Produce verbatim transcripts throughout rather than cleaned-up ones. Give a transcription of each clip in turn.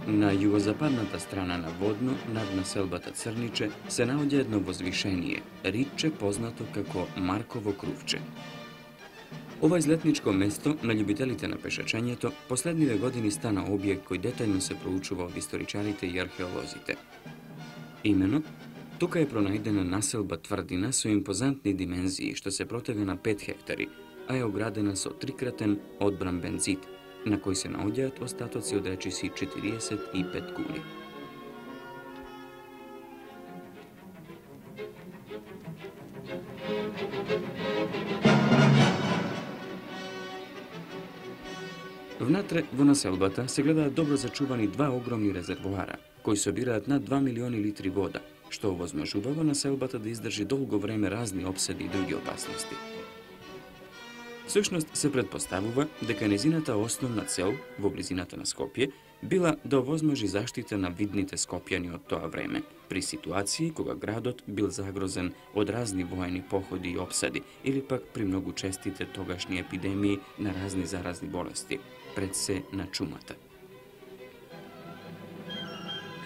На југозападната страна на Водно, над населбата Црниче, се наоѓа едно возвишение, ридче познато како Марково крувче. Ова излетничко место на љубителите на пешачењето последниве години стана објект кој детајно се проучува од историчарите и археолозите. Имено, тука е пронајдена населба тврдина со импозантни димензии што се протега на пет хектари, а е оградена со трикратен одбрамбен зид, на кој се наоѓаат остатоци од речиси четириесет и пет кули. Внатре во населбата се гледаат добро зачувани два огромни резервоара, кои собираат над два милиони литри вода, што овозможувало населбата да издржи долго време разни обседи и други опасности. Всушност се предпоставува дека незината основна цел во близината на Скопје била да овозможи заштита на видните скопјани од тоа време, при ситуации кога градот бил загрозен од разни воени походи и обсади или пак при многу честите тогашни епидемии на разни заразни болести, пред се на чумата.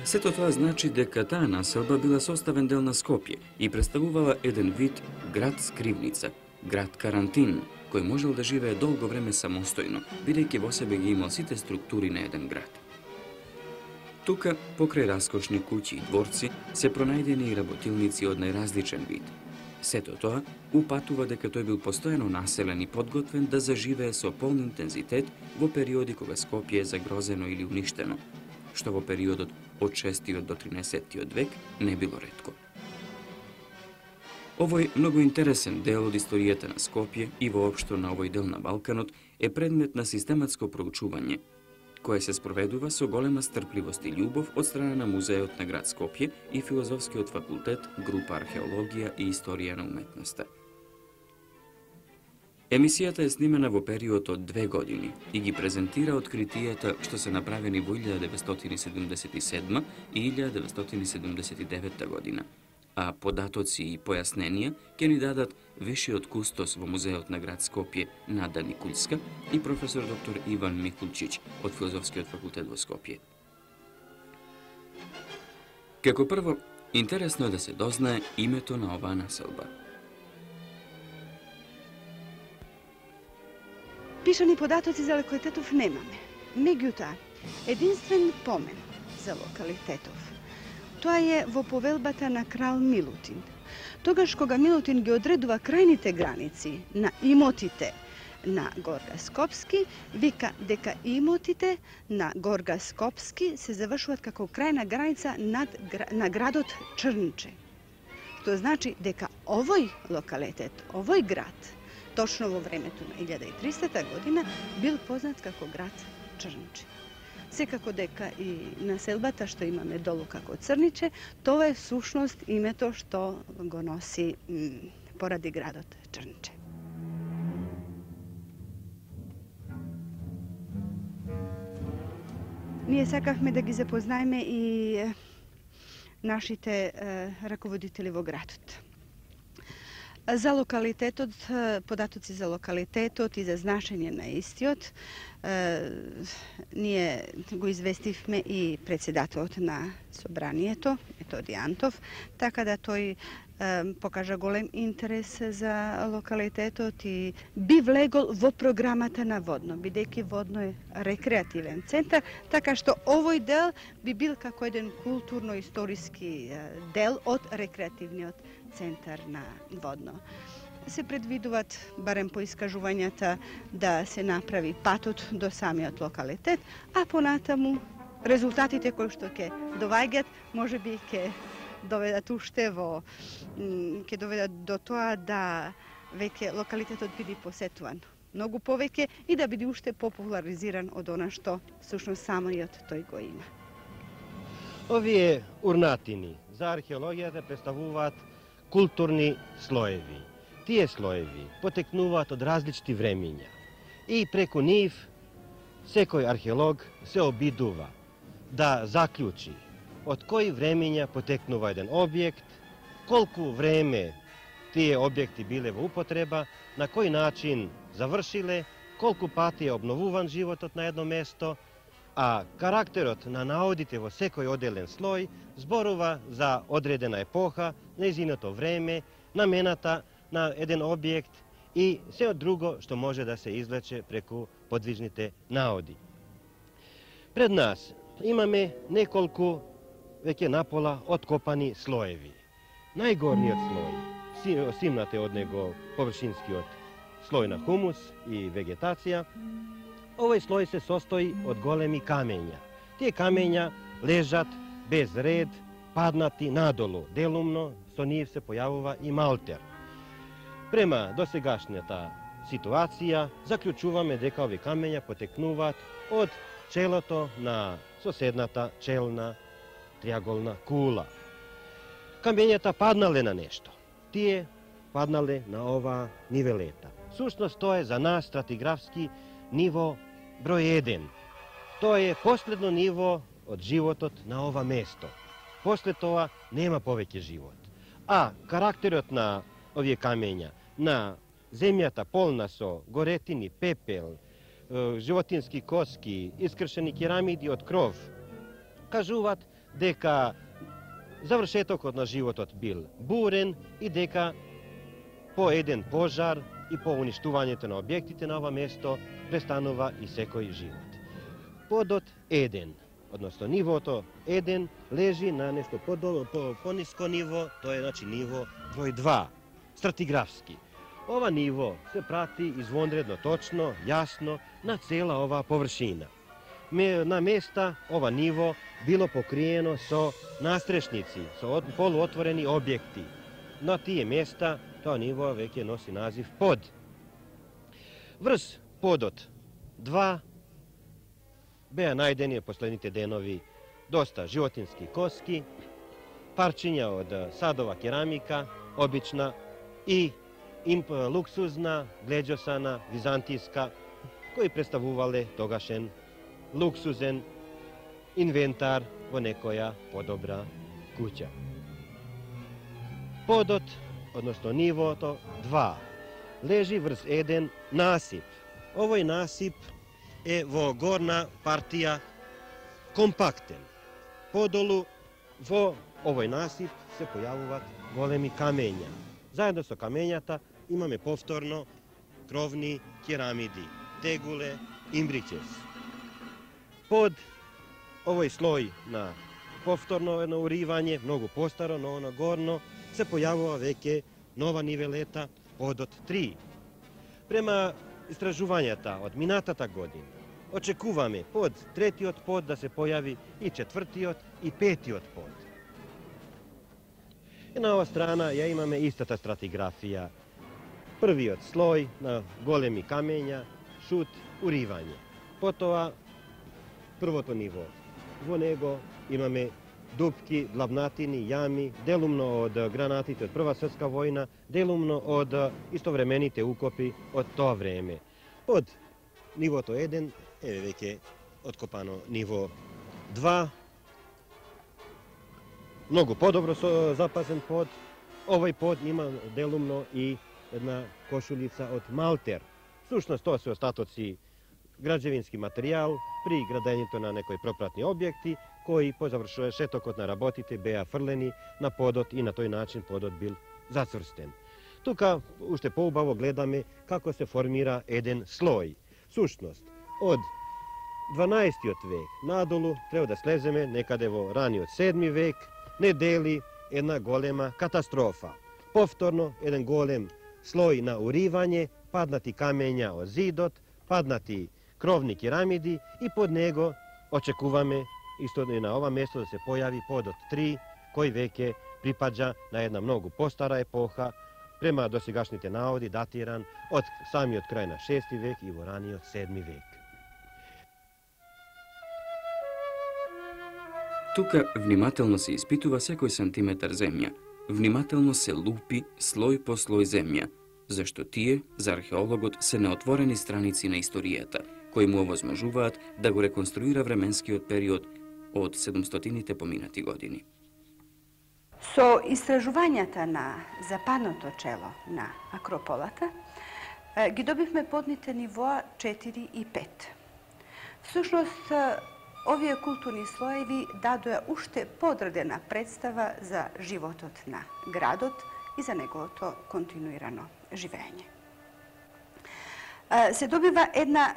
Сето тоа значи дека таа населба била составен дел на Скопје и представувала еден вид град скривница, град карантин, кој можел да живее долго време самостојно, бидејќи во себе ги имал сите структури на еден град. Тука, покрај раскошни куќи и дворци, се пронајдени и работилници од најразличен вид. Сето тоа упатува дека тој бил постојано населен и подготвен да заживее со полн интензитет во периоди кога Скопје е загрозено или уништено, што во периодот од шестиот до тринаесеттиот век не било ретко. Овој многу интересен дел од историјата на Скопје и воопшто на овој дел на Балканот е предмет на систематско проучување, кое се спроведува со голема стрпливост и љубов од страна на Музеот на град Скопје и Филозофскиот факултет, група Археологија и Историја на уметноста. Емисијата е снимена во период од две години и ги презентира откритијата што се направени во илјада деветстотини седумдесет и седма и илјада деветстотини седумдесет и девета година, а податоци и појасненија ќе ни дадат вишиот кустос во Музеот на град Скопје Нада Никулска и професор доктор Иван Микулчиќ од Филозофскиот факултет во Скопје. Како прво, интересно е да се дознае името на оваа населба. Пишани податоци за локалитетов немаме. Меѓутоа, единствен помен за локалитетов тоа е во повелбата на крал Милутин. Тогаш кога Милутин ги одредува крајните граници на имотите на Горга Скопски, вика дека имотите на Горга Скопски се завршуваат како крајна граница над, на градот Чрнче. Тоа значи дека овој локалитет, овој град, точно во времето на илјада и тристата година, бил познат како град Чрнче. Секако дека и населбата што имаме долу како Црниче, тоа е сушност името што го носи поради градот Чрнче. Ние сакавме да ги запознаеме и нашите раководители во градот. За локалитетот, податоци за локалитетот и за значење на истиот, ние го известивме и председателот на собранието, Методи Антов, така да тој покажа голем интерес за локалитетот и би влегол во програмата на Водно, бидејќи Водно е рекреативен центар, така што овој дел би бил како еден културно-историски дел од рекреативниот центар на Водно. Се предвидуваат, барем по искажувањата, да се направи патот до самиот локалитет, а понатаму резултатите кои што ќе доваѓат, можеби ќе доведат уште во ќе доведат до тоа да веќе локалитетот биде посетуван многу повеќе и да биде уште популаризиран од она што всушност самиот тој го има. Овие урнатини за археологијата представуваат културни слоеви. Тие слоеви потекнуваат од различни времиња и преку нив секој археолог се обидува да заклучи од кои времиња потекнува еден објект, колку време тие објекти биле во употреба, на кој начин завршиле, колку пати е обновуван животот на едно место, а карактерот на наодите во секој одделен слој зборува за одредена епоха, нејзиното време, намената на еден објект и се друго што може да се извлече преку подвижните наоди. Пред нас имаме неколку веќе напола откопани слоеви. Најгорниот слој, симнате од него површинскиот слој на хумус и вегетација, овој слој се состои од големи камења. Тие камења лежат без ред, паднати надолу, делумно со нив се појавува и малтер. Према досегашната ситуација, заклучуваме дека овие камења потекнуваат од челото на соседната челна триаголна кула. Камењата паднале на нешто. Тие паднале на ова нивелета. Сушност тоа е за нас стратиграфски ниво број еден. Тоа е последно ниво од животот на ова место. После тоа нема повеќе живот. А карактерот на овие камења, на земјата полна со горетини, пепел, животински коски, искршени керамиди од кров, кажуваат дека завршетокот на животот бил бурен и дека по еден пожар и по уништувањето на објектите на ова место престанува и секој живот. Подот еден, односно нивото еден, лежи на нешто подолу, по пониско ниво, тоа е значи ниво број два, стратиграфски. Ова ниво се прати извонредно точно, јасно на цела оваа површина. На места ова ниво било покриено со настрешници, со полуотворени објекти. На тие места тоа ниво веќе носи назив под. Врз подот два беа најдени последните денови доста животински коски, парчиња од садова керамика, обична и имп луксузна, глеđосана, византијска, кои представувале тогашен луксузен инвентар во некоја подобра куќа. Подот, односно нивото два, лежи врз еден насип. Овој насип е во горна партија компактен. Подолу во овој насип се појавуваат големи камења. Заедно со камењата имаме повторно кровни керамиди, тегуле, имбричес. Под овој слој на повторно едно уривање, многу постаро, но оно горно, се појавува веќе нова нивелета, подот три. Према истражувањата од минатата година, очекуваме под третиот под да се појави и четвртиот и петиот под. И на ова страна ја имаме истата стратиграфија. Првиот слој на големи камења, шут, уривање. Потоа првото ниво. Во него имаме дупки, длабнатини, јами, делумно од гранатите од Прва светска војна, делумно од истовремените укопи од тоа време. Под нивото еден е веќе откопано ниво два. Многу подобро со запазен под. Овој под има делумно и една кошулица од малтер. Сушност тоа се остатоци граđевински материјал при градењето на некои пропратни објекти, кои по завршетокот на работите беа фрлени на подот и на тој начин подот бил зацврстен. Тука уште поубаво гледаме како се формира еден слој. Сушност, од дванаесеттиот век надолу треба да слеземе некаде во раниот седми век, не дели една голема катастрофа. Повторно еден голем слој на уривање, паднати камења од зидот, паднати кровни керамиди и под него очекуваме исто и на ова место да се појави подот три, кој веќе припаѓа на една многу постара епоха, према досегашните наоди датиран од самиот крај на шести век и во раниот седми век. Тука внимателно се испитува секој сантиметар земја. Внимателно се лупи слој по слој земја, зашто тие за археологот се неотворени страници на историјата, кои му овозможуваат да го реконструира временскиот период од седумстотините поминати години. Со истражувањата на западното чело на Акрополата ги добивме подните нивоа четири и пет. Всушност, овие културни слоеви дадоа уште подредена представа за животот на градот и за неговото континуирано живење. Се добива една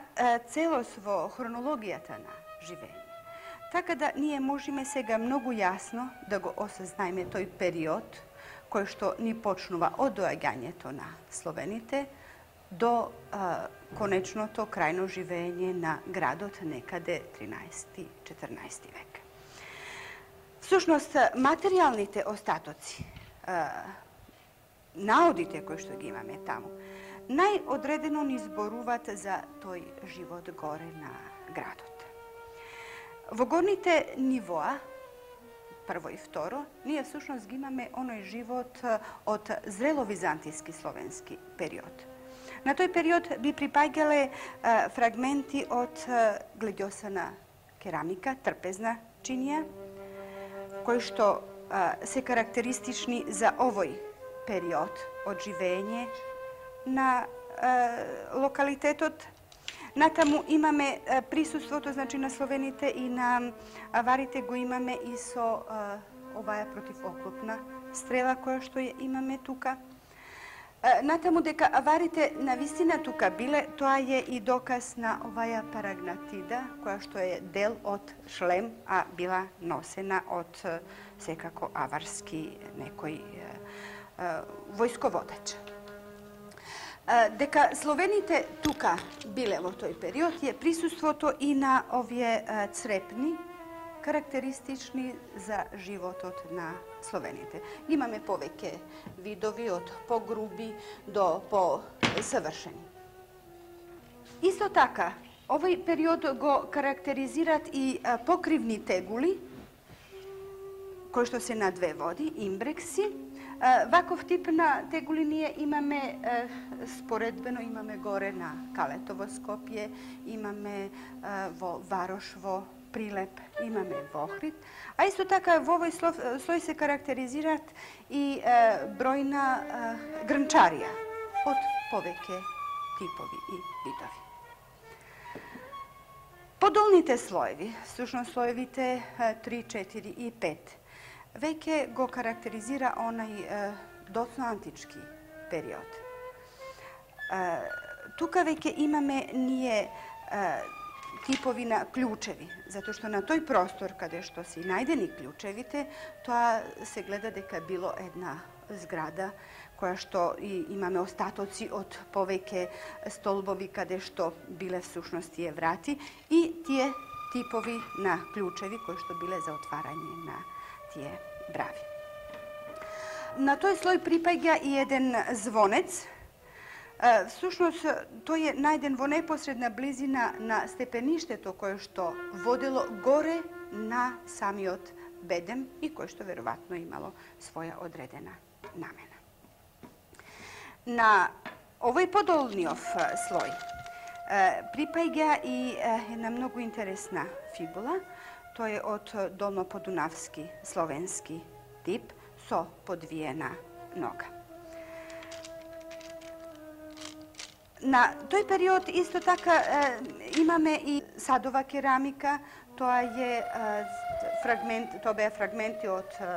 целост во хронологијата на живење. Така да ние можеме сега многу јасно да го осознаеме тој период кој што ни почнува од доаѓањето на словените до а, конечното крајно живење на градот некаде тринаесети-четрнаесети век. Всушност, материјалните остатоци, а, наодите кои што ги имаме таму, најодредено ни зборуваат за тој живот горе на градот. Во горните нивоа, прво и второ, ние всушност ги имаме оној живот од зрело-византиски словенски период. На тој период би припаѓале а, фрагменти од а, гледјосана керамика, трпезна чинија, кои што а, се карактеристични за овој период од живење на а, локалитетот. Натаму имаме а, присуството, значи, на словените и на аварите го имаме и со а, оваа противоклопна стрела која што ја имаме тука. Натаму дека аварите на вистина тука биле, тоа е и доказ на оваја парагнатида, која што е дел од шлем, а била носена од секако аварски некој војсководеч. Дека словените тука биле во тој период е присуството и на овие црепни, карактеристични за животот на словените. Имаме повеќе видови од погруби до посавршени. Исто така, овој период го карактеризират и покривни тегули, кои што се на две води, имбрекси. Ваков тип на тегули ние имаме споредбено, имаме горе на Калетово Скопје, имаме во Варош, во Прилеп, имаме во Охрид, а исто така во овој слој се карактеризираат и е, бројна е, грнчарија од повеќе типови и видови. Подолните слоеви, всушност слоевите три, четири и пет, веќе го карактеризира онај е, доцноантички период. Е, тука веќе имаме ние е, типови на клучеви, затоа што на тој простор каде што се најдени клучевите, тоа се гледа дека било една зграда која што и имаме остатоци од повеќе столбови каде што биле всушност тие врати и тие типови на клучеви кои што биле за отварање на тие брави. На тој слој припаѓа и еден звонец. Всушност, тој е најден во непосредна близина на степеништето кое што водело горе на самиот бедем и кое што веројатно имало своја одредена намена. На овој подолниот слој припаѓа и една многу интересна фибула. Тој е од долноподунавски словенски тип со подвиена нога. На тој период исто така е, имаме и садова керамика, тоа е фрагмент, тоа беа фрагменти од е,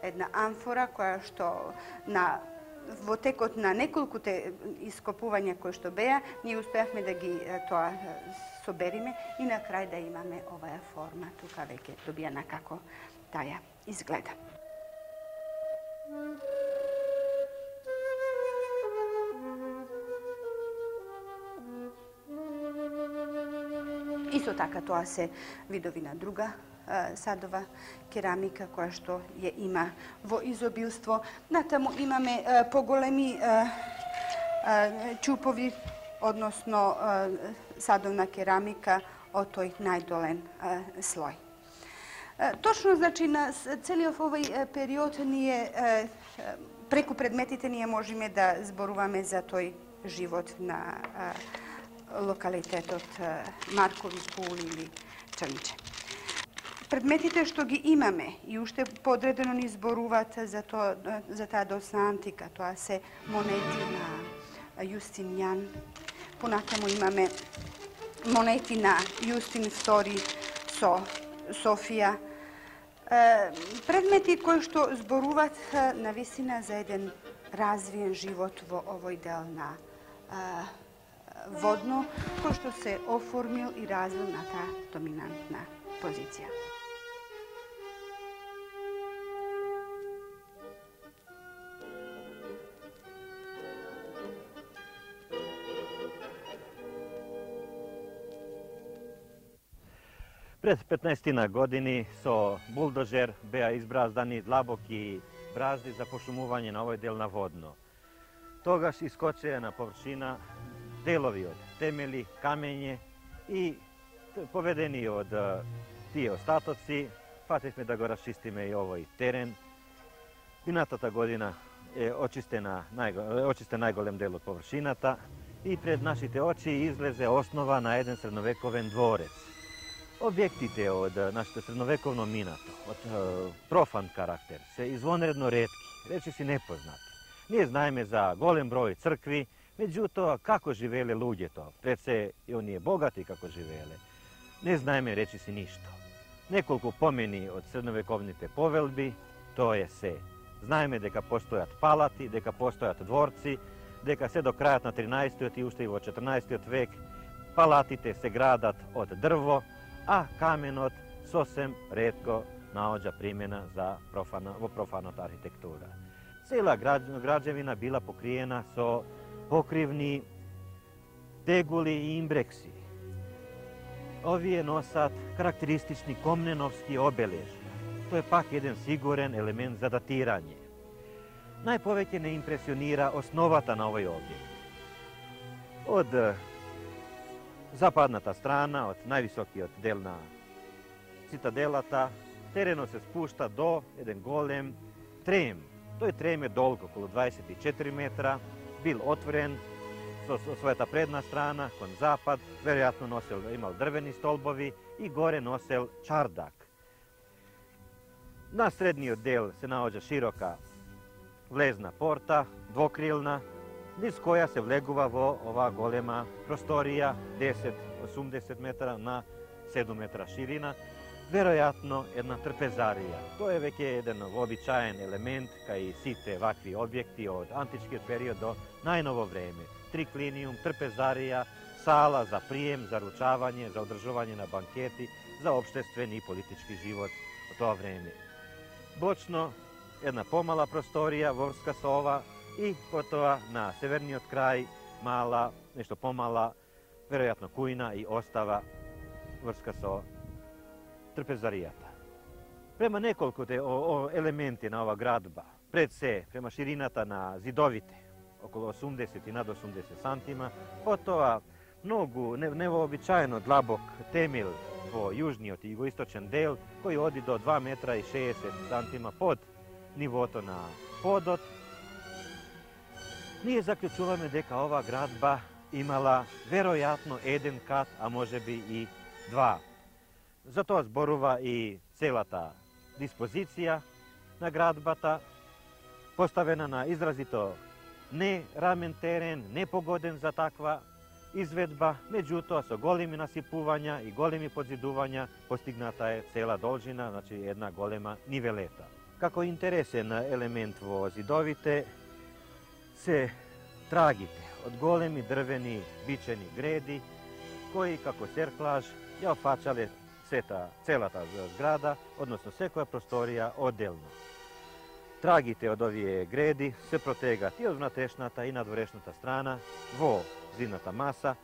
една амфора која што на во текот на неколкуте ископувања кои што беа, ние успеавме да ги е, тоа собериме и на крај да имаме оваа форма, тука веќе добијана како таја изгледа. Исто така тоа се видови на друга е, садова керамика која што ја има во изобилство. Натаму имаме е, поголеми е, е, чупови, односно е, садовна керамика од тој најдолен е, слој. Е, точно, значи, на целиот овој период ние е, преку предметите ние можеме да зборуваме за тој живот на е, локалитетот Маркови кули или Чрнче. Предметите што ги имаме и уште подредено ни зборуваат за тоа, за таа доцна антика, тоа се монети на Јустинијан. Понатаму имаме монети на Јустин втори со Софија. Предмети кои што зборуваат на вистина за еден развиен живот во овој дел на водно, кој што се оформил и развил на таа доминантна позиција. Пред петнаесетина години со булдожер беа избраздани длабоки бразди за пошумување на овој дел на водно. Тогаш искочеа на површина делови од темели, камење и поведени од тие остатоци, фативме да го расчистиме и овој терен. Минатата година е очистена, очистен најголем дел од површината и пред нашите очи излезе основа на еден средновековен дворец. Објектите од нашето средновековно минато, од профан карактер, се извонредно ретки, речиси непознати. Ние знаеме за голем број цркви, меѓутоа како живееле луѓето, пред се и оние богати како живееле, не знаеме речиси ништо. Неколку помени од средновековните повелби, тоа е се. Знаеме дека постојат палати, дека постојат дворци, дека се до крајот на тринаесеттиот и уште и во четрнаесеттиот век палатите се градат од дрво, а каменот сосем ретко наоѓа примена за профана, во профаната архитектура. Цела граđevina била покриена со покривни тегули и имбрекси. Овие носат карактеристични комненовски обележја. Тоа е пак еден сигурен елемент за датирање. Најповеќе не импресионира основата на овој објект. Од западната страна, од највисокиот дел на цитаделата, теренот се спушта до еден голем трем. Тој трем е долг околу дваесет и четири метра, бил отворен со својата предна страна кон запад, веројатно носел, имал дрвени столбови и горе носел чардак. На средниот дел се наоѓа широка влезна порта, двокрилна, низ која се влегува во оваа голема просторија, десет до осумдесет метра на седум метра ширина, веројатно една трпезарија. Тоа е веќе еден вообичаен елемент кај сите вакви објекти од античкиот период до најново време. Триклиниум, трпезарија, сала за прием, за ручавање, за одржување на банкети, за општествен и политички живот во тоа време. Бочно, една помала просторија во врска со ова и потоа на северниот крај мала, нешто помала, веројатно кујна и остава врска со трпезаријата. Према неколку елементи на ова градба, пред се, према ширината на зидовите, околу осумдесет и над осумдесет сантима, потоа многу невообичаено длабок темел во јужниот и југоисточен дел, кој оди до два метра и шеесет сантима под нивото на подот. Ние заклучуваме дека ова градба имала веројатно еден кат, а можеби и два. За тоа зборува и целата диспозиција на градбата, поставена на изразито не рамен терен, непогоден за таква изведба, меѓутоа со големи насипувања и големи подзидувања постигната е цела должина, значи една голема нивелета. Како интересен елемент во зидовите се трагите од големи дрвени бичени греди, кои како серклаж ја опфачале сета, целата зграда, односно секоја просторија одделно. Трагите од овие греди се протегат и од внатрешната и надворешната страна во зидната маса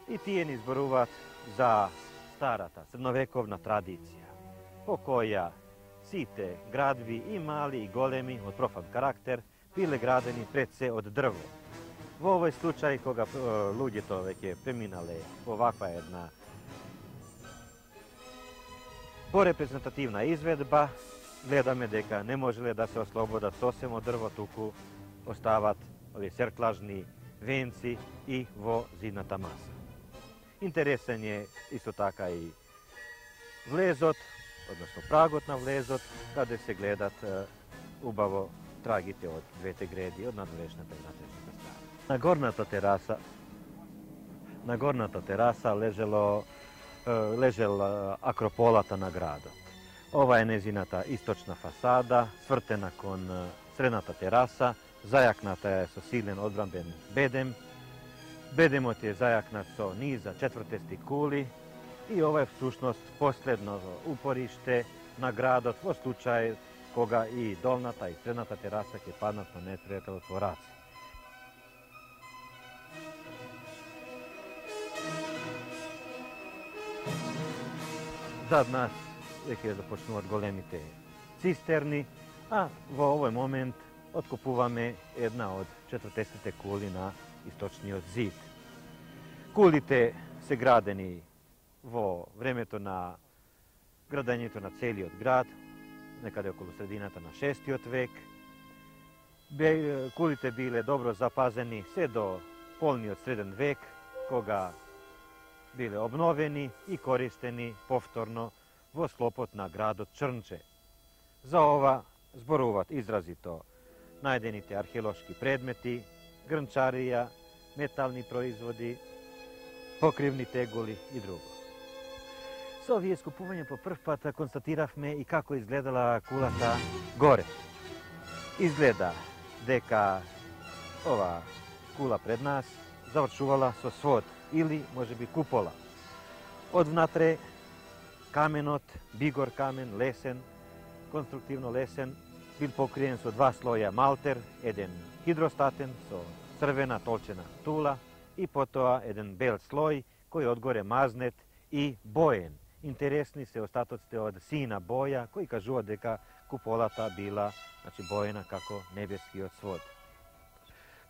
и тие ни зборуваат за старата средновековна традиција, по која сите градби и мали и големи од профан карактер биле градени пред се од дрво. Во овој случај, кога луѓето веќе преминале во ваква една порепрезентативна изведба, гледаме дека не можеле да се ослободат сосем од дрво, туку остават овие серклажни венци и во зидната маса. Интересен е исто така и влезот, односно прагот на влезот, каде се гледат убаво трагите од двете греди, од надворешната и внатрешната страна. На горната тераса, на горната тераса лежело лежел акрополата на градот. Ова е незината источна фасада, свртена кон средната тераса, зајакната е со силен одбранбен бедем. Бедемот е зајакнат со низа четвртести кули и ова е всушност последно упориште на градот во случај кога и долната и средната тераса ќе паднат на непријателот во раце. Зад нас веќе започнуваат големите цистерни, а во овој момент откупуваме една од четвртестите кули на источниот зид. Кулите се градени во времето на градењето на целиот град, некаде околу средината на шестиот век. Кулите биле добро запазени се до полниот среден век, кога биле обновени и користени повторно во склопот на градот Чрнче. За ова зборуваат изразито најдените археолошки предмети, грнчарија, метални производи, покривни тегули и друго. Со овие скупување по прв пат констатиравме и како изгледала кулата горе. Изгледа дека ова кула пред нас завршувала со свод или можеби купола. Од внатре каменот, бигор камен, лесен, конструктивно лесен, бил покриен со два слоја малтер, еден хидростатен со црвена толчена тула и потоа еден бел слој кој одгоре мазнет и боен. Интересни се остатоците од сина боја кои кажуваат дека куполата била, значи, боена како небескиот свод.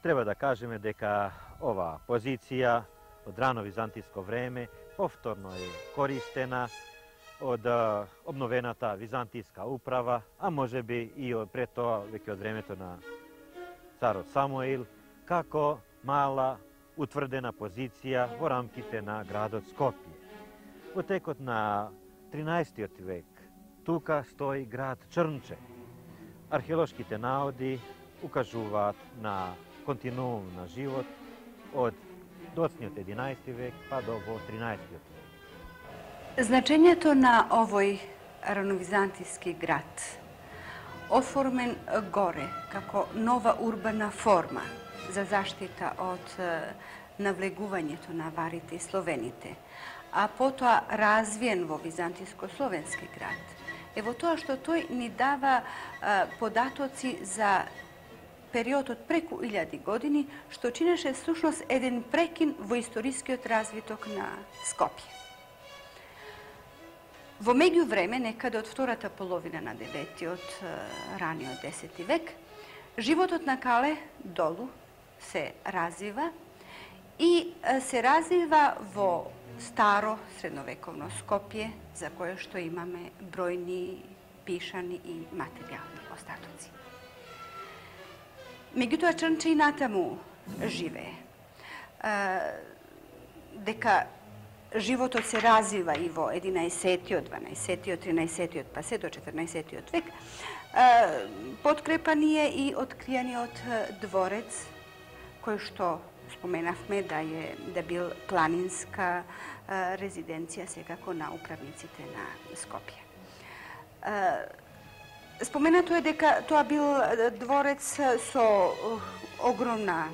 Треба да кажеме дека ова позиција од рано византиско време повторно е користена од обновената византиска управа, а можеби и пред тоа веќе од времето на царот Самуил, како мала утврдена позиција во рамките на градот Скопје. Во текот на тринаесеттиот век тука стои град Чрнче. Археолошките наоди укажуваат на континуум на живот од доцниот единаесети век па до во тринаесеттиот век. Значењето на овој рановизантиски град, оформен горе како нова урбана форма за заштита од навлегувањето на варите и словените, а потоа развиен во византиско-словенски град, е во тоа што тој ни дава а, податоци за период од преку илјади години, што чинеше всушност еден прекин во историскиот развиток на Скопје. Во меѓувреме, некаде од втората половина на деветиот, раниот десети век, животот на Кале долу се развива и се развива во старо средновековно Скопје, за кое што имаме бројни пишани и материјални остатоци. Меѓутоа, Чрнче и натаму живее. Дека животот се развива и во единаесеттиот, дванаесеттиот, тринаесеттиот, па се до четрнаесеттиот век, подкрепан е и откријаниот дворец, кој што споменавме да е да бил планинска резиденција секако на управниците на Скопје. Споменато е дека тоа бил дворец со огромна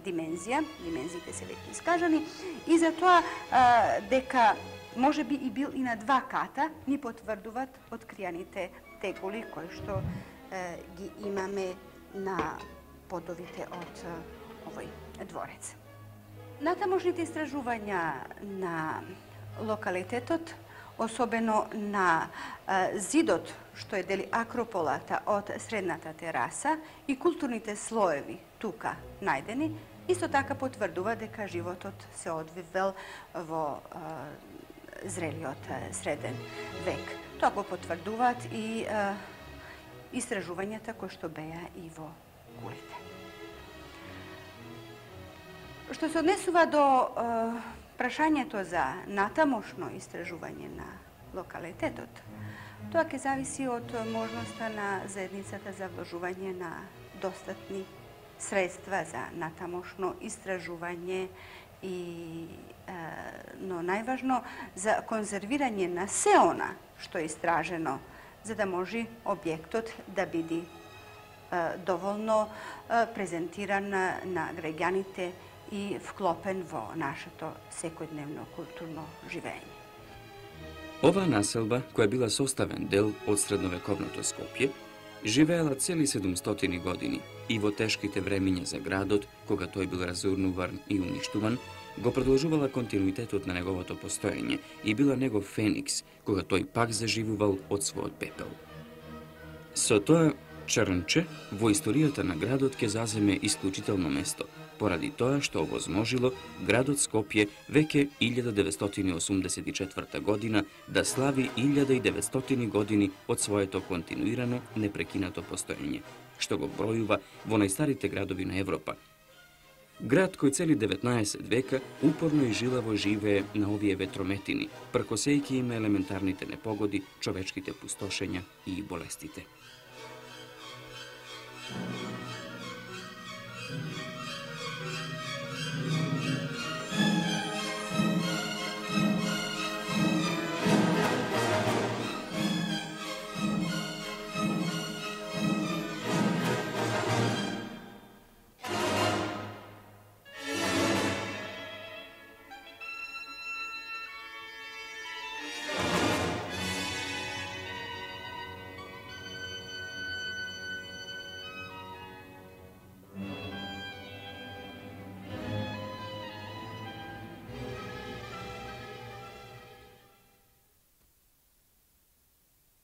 димензија, димензиите се веќе искажани, и затоа дека може би и бил и на два ката, ни потврдуваат откријаните тегули кои што ги имаме на подовите од овој дворец. Натамошните истражувања на локалитетот, особено на зидот што е дели акрополата од средната тераса и културните слоеви тука најдени, исто така потврдува дека животот се одвивел во зрелиот среден век. Тоа го потврдуваат и истражувањата кои што беа и во кулите. Што се однесува до прашањето за натамошно истражување на локалитетот, тоа ќе зависи од можноста на заедницата за вложување на достатни средства за натамошно истражување и е, ono najvažno za konzerviranje na seona što je istraženo, za da može objektot da bidi dovoljno prezentiran na građanite i vklopen vo naše to sekodnevno kulturno živenje. Ова населба, која била составен дел од средновековното Скопје, живеела цели седумстотини години и во тешките времиња за градот, кога тој бил разурнуван и уништуван, го продолжувала континуитетот на неговото постоење и била негов феникс, кога тој пак заживувал од својот пепел. Со тоа Чрнче во историјата на градот ќе заземе исклучително место, поради тоа што овозможило градот Скопје веќе илјада деветстотини осумдесет и четврта година да слави илјада и деветстотини години од своето континуирано непрекинато постоење, што го бројува во најстарите градови на Европа. Град кој цели деветнаесет века упорно и жилаво живее на овие ветрометини, пркосејќи им елементарните непогоди, човечките пустошења и болестите.